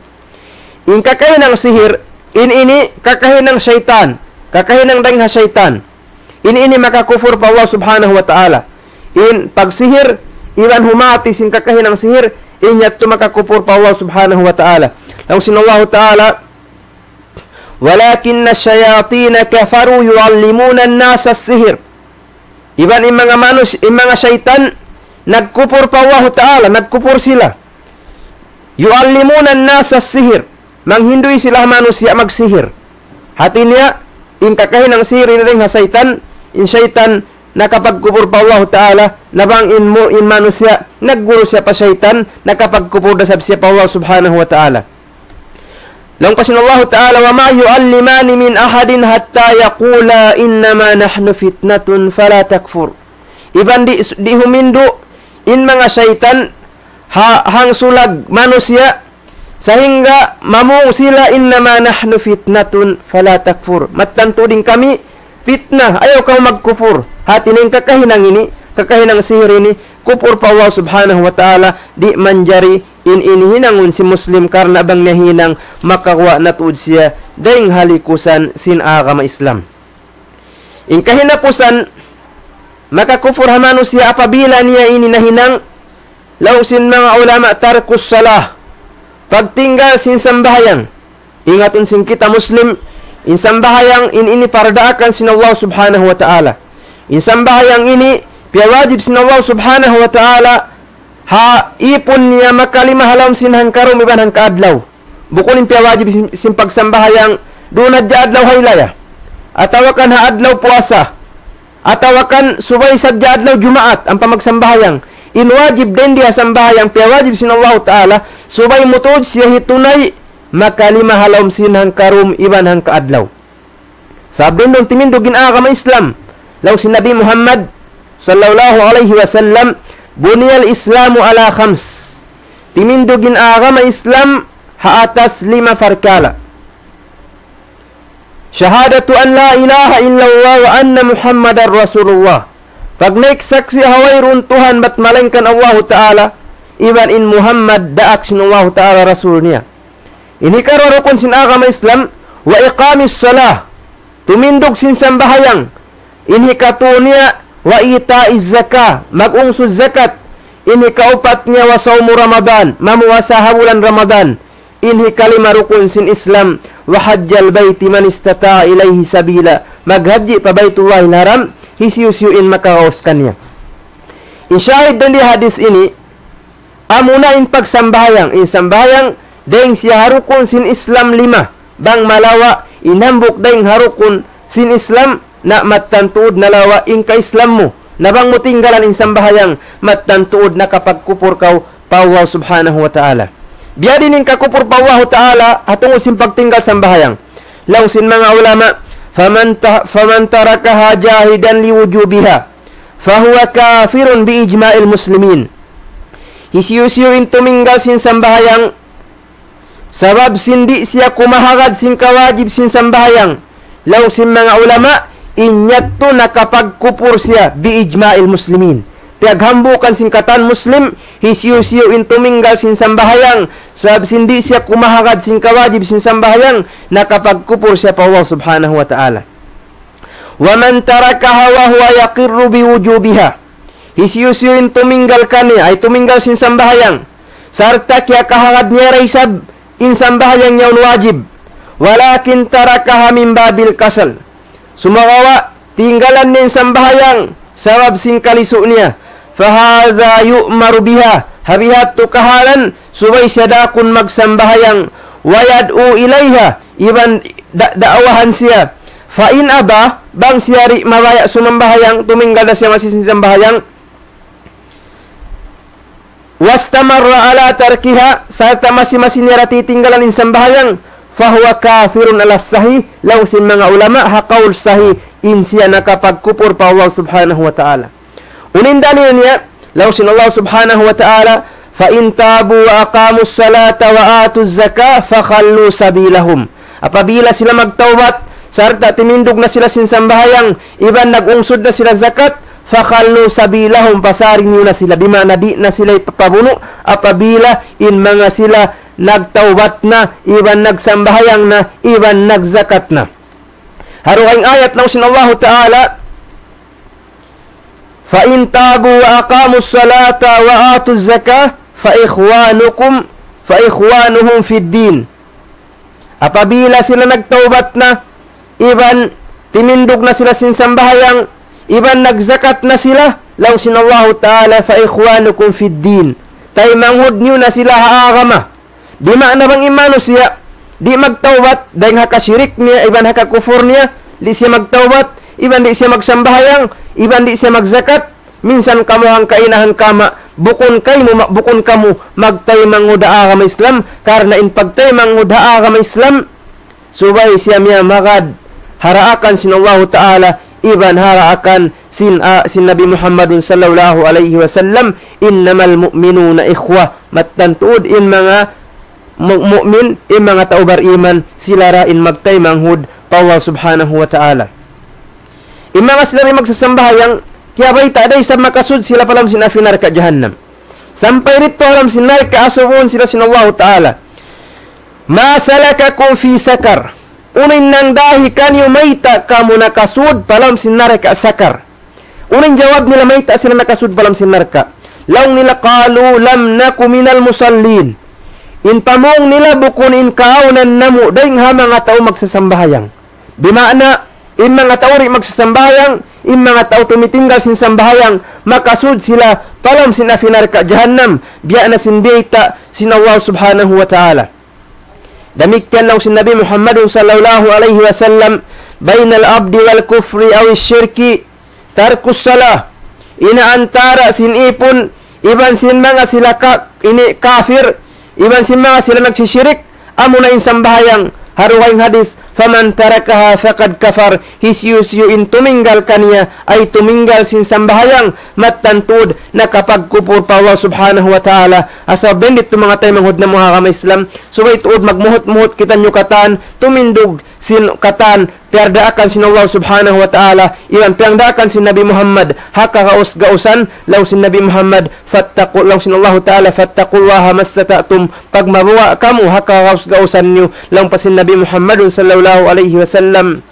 In kakahinang sihir, in ini kakahinang saytan, kakahinang dayn ha saytan. In ini makakupur pa Allah Subhanahu wa Ta'ala. In pagsihir, iban humati sin kakahinang sihir, inya makakupur pa Allah Subhanahu wa Ta'ala. Laung sin Allah Ta'ala, ولكن الشياطين كفروا يعلمون الناس السحر. Iban in manga manus-, in manga saytan, nagkupur pa Allahu Ta'ala, nagkupur sila. يعلمون الناس السحر. Manghindu' sila manusiya' magsihir. Hati niya, in kakahinang sihir ini dayn ha saytan, in saytan nakapagkupur pa Allahu Ta'ala, na bang in mu-, in manusiya', nagguru siya pa saytan, nakapagkupur da isab siya pa Allah Subhanahu wa Ta'ala. Laung pa sin Allahu Ta'ala, وما يعلمان من أحد حتى يقولا إنما نحن فتنة فلا تكفر. Iban di', di' humindu' in manga saytan ha, hangsulag manusiya', sahingga mamung sila, إنما نحن فتنة فلا تكفر. Mattan tuud in kami fitna, ayaw kaw magkupur. Hati niya in kakahinang ini, kakahinang sihir ini, kupur pa Allah Subhanahu wa Ta'ala, di' manjari in ini hinangun sin Muslim karna' bang niya hinang makaguwa' na tuud siya dayn ha likusan sin agama Islam. In kahinapusan, makakupur ha manusiya' apabila niya ini nahinang, laung sin manga ulama ترك الصلاة, pagtinggal sin sambahayang. Ingatun sin kita Muslim, in sambahayang in ini pardaakan sin Allah Subhanahu wa Ta'ala. In sambahayang ini piyawajib sin Allah Subhanahu wa Ta'ala ha ipun niya makalima ha lawm sin hangkarum iban hangkaadlaw. Bukun in piyawajib sin, sin pagsambahayang duun hadja adlaw haylaya. Atawa kan ha adlaw puasa. Atawa kan subay sadja adlaw Jumaat ampa magsambahayang. In wajib dayn di ha sambahayang piyawajib sin Allahu Ta'ala, subay mu tuud siya hitunay makalima ha lawm sin hangkarum iban hangkaadlaw. Sabab dayn duun timindug in agama Islam. Laung sin Nabi Muhammad sallallahu alayhi wasallam, بني الإسلام على خمس. Timindug in agama Islam ha atas lima parkala'. شهادة أن لا إله إلا الله وأن محمدا رسول الله. Pagnaik saksi' ha wayruun Tuhan bat malaingkan Allahu Ta'ala, iban in Muhammad daak sin Allahu Ta'ala Rasul niya. In hikaruwa rukun sin agama Islam, وإقام الصلاة. Tumindug sin sambahayang. In hikatu niya, وإيتاء الزكاة. Mag-ungsud zakat. In hikaupat niya, وصوم رمضان. Mamuasa ha bulan Ramadan. In hikalima rukun sin Islam, وحج البيت من استطاع إليه سبيلا. Maghajji pa Baytullahil Haram, hisiyu-siyu in makagaus kaniya. In shahid dayn di hadith ini, amuna in pagsambahayang, in sambahayang, dayn siya ha rukun sin Islam lima, bang malawa', in hambuuk dayn ha rukun sin Islam, na mattan tuud nalawa' in ka-Islam mu. Na bang mu tinggalan in sambahayang, mattan tuud nakapagkupur kaw pa Allah Subhanahu wa Ta'ala. Biya' diin in kakupur pa Allahu Ta'ala, ha tungud sin pagtinggal sambahayang. Laung sin manga ulama, فمن ت-، فمن تركها جاحدا لوجوبها فهو كافر بإجماع المسلمين. Hisiyu-siyu in tuminggal sin sambahayang, sabab sin di' siya kumahagad sin kawajib sin sambahayang. Laung sin manga ulama, in yadtu nakapagkupur siya بإجماع المسلمين. Piyaghambuukan sin katan Muslim, hisiyu-siyu in tuminggal sin sambahayang, sabab sin di' siya kumahagad sin kawajib sin sambahayang, nakapagkupur siya pa Allah Subhanahu wa Ta'ala. ومن تركها وهو يقر بوجوبها. Hisiyu-siyu in tuminggal kaniya, ay tuminggal sin sambahayang, sarta' kiyakahagad niya da isab in sambahayang yaun wajib. ولكن تركها من باب الكسل. Sumagawa', tinggalan niya in sambahayang, sabab sin kalisu' niya. فهذا يؤمر بها. Ha bihadtu kahalan, subay siya daakun magsambahayang. ويدعو إليها. Iban da-, daawahan siya. فإن أبى, bang siya di' mabaya' sumambahayang, tuminggal da siya masi sin sambahayang. واستمر على تركها, sarta' masi-masi niya da titinggalan in sambahayang, فهو كافر على الصحيح, laung sin manga ulama, ha kaul sahih, in siya nakapagkupur pa Allah Subhanahu wa Ta'ala. Unu in dalil niya, laung sin Allah Subhanahu wa Ta'ala, فإن تابوا وأقاموا الصلاة وآتوا الزكاة فخلوا سبيلهم. Apabila sila magtawbat, sarta' timindug na sila sin sambahayang, iban nag-ungsud na sila zakat, فخلوا سبيلهم, pasarin niyu na sila, bima'na di' na sila ipapabunu', apabila in manga sila nagtawbat na, iban nagsambahayang na, iban nagzakat na. Ha dugaing ayat laung sin Allahu Ta'ala, فإن تابوا وأقاموا الصلاة وآتوا الزكاة فإخوانكم، فإخوانهم في الدين. Apabila sila nagtawbat na, iban timindug na sila sin sambahayang, iban nagzakat na sila, laung sin Allahu Ta'ala, فإخوانكم في الدين. Taymanghud niyu na sila ha agama. Di' maana bang in manusiya' di' magtawbat, dayn ha kashirik niya, iban ha kakufur niya, di' siya magtawbat, iban di' siya magsambahayang, iban di' siya magzakat, minsan kamu hangka ina' hangka ama', bukun kaymu ma-, bukun kamu magtaymanghud ha agama Islam, karna' in pagtaymanghud ha agama Islam, subay siya miyamagad ha daakan sin Allahu Ta'ala, iban ha daakan sin, ah, sin Nabi Muhammadun sallallahu alayhi wasallam, إنما المؤمنون إخوة. Mattan tuud in manga mu-, mu'min, in manga tau bariman, sila ra in magtaymanghud pa Allah Subhanahu wa Ta'ala. In manga sila ra in magsasambahayang, kiyabayta' da isab makasud sila pa lawm sin api narka' jahannam. Sampay didtu ha lawm sin narka' asubuhun sila sin Allahu Ta'ala. ما سلككم في سقر. Unu in nangdahi kaniyu mayta' kamu nakasud pa lawm sin narka' Sakar? Unu in jawab nila mayta' sila nakasud pa lawm sin narka'? Laung nila, قالوا لم نك من المصلين. In pamung nila bukun in kaawnan namu' dayn ha manga tau magsasambahayang. Di' maana, in manga tau di' magsasambahayang, in manga tau tumitinggal sin sambahayang, makasud sila pa lawm sin api narka' jahannam, biya' na sin biyayta' sin Allah Subhanahu wa Ta'ala. Damikkiyan laung sin Nabi Muhammadun sallallahu alayhi wasallam, بين العبد والكفر أو الشرك ترك الصلاة. In ha antara' sin ipun, iban sin manga sila ka-, ini kafir, iban sin manga sila nagsishirik, amuna in sambahayang, ha dugaing hadis, فمن تركها فقد كفر, hisiyu-siyu in tuminggal kaniya, ay tuminggal sin sambahayang, mattan tuud nakapagkupur pa Allah Subhanahu wa Ta'ala. Asal bendit tu manga taymanghud namu' ha agama Islam, subay tuud magmuhut-muhut kitaniyu katan, tumindug sin katan, piyagdaakan sin Allah Subhanahu wa Ta'ala, iban piyagdaakan sin Nabi Muhammad, ha kagaus-gausan, laung sin Nabi Muhammad, فاتقوا, laung sin Allahu Ta'ala, فاتقوا الله ما استطعتم, pagmabuga' kamu ha kagaus-gausan niyu, laung pa sin Nabi Muhammadun sallallahu alayhi wasallam,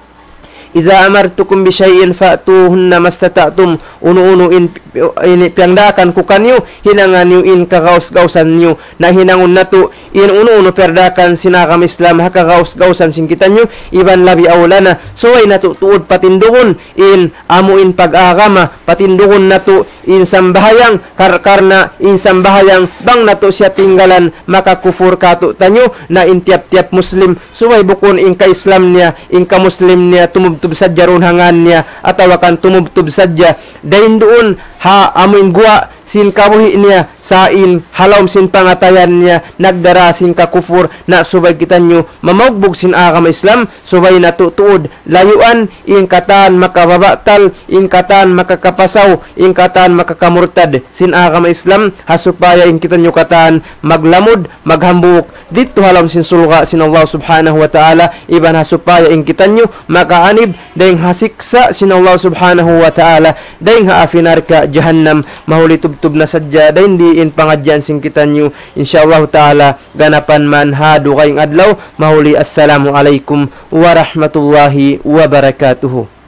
إذا أمرتكم بشيء فأتوهن ما استطعتم, unu-unu in, ini piyagdaakan ku kaniyu, hinanga niyu in kagaus-gausan niyu. Na hinangun natu', in unu-unu piyagdaakan sin agama Islam, ha kagaus-gausan sin kitaniyu, iban labi awla na, subay natu' tuud patindugun, in amu in pag-agama, patindugun natu', in sambahayang, kar-, karna' in sambahayang, bang natu' siya tinggalan, makakufur katu'taniyu, na in tiyap-tiyap Muslim, subay bukun in ka-Islam niya, in ka-Muslim niya, tumubtub sadja duun ha ngan niya, atawa kan tumubtub sadja, dayn duun ha amu in guwa' sin kabuhi' niya, Sa' in ha lawm sin pangatayan niya nagdara sin kakupur, na subay kitaniyu mamaugbug sin agama Islam, subay natu' tuud layuan in katan makababatal, in katan makakapasaw, in katan makakamurtad sin agama Islam, ha supaya in kitaniyu katan maglamud, maghambuuk didtu ha lawm sin surga' sin Allah Subhanahu wa Ta'ala, iban ha supaya in kitaniyu makaanib dayng ha siksa' sin Allah Subhanahu wa Ta'ala, dayng ha api narka' jahannam. Mahuli tubtub na sadja dayn di in pangadjian sin kitaniyu. Insya Allah Ta'ala, ganapan man ha dugaing adlaw. Mahuli, assalamu alaykum warahmatullahi wabarakatuh.